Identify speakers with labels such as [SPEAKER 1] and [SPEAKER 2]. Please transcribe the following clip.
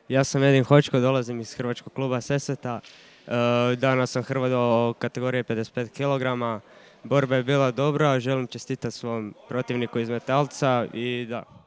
[SPEAKER 1] Ja sam Edin Hočko, dolazim iz Hrvačkog kluba Sesveta. Danas sam hrvao kategorije 55 kg. Borba je bila dobra, želim čestitati svom protivniku iz Metalca i da.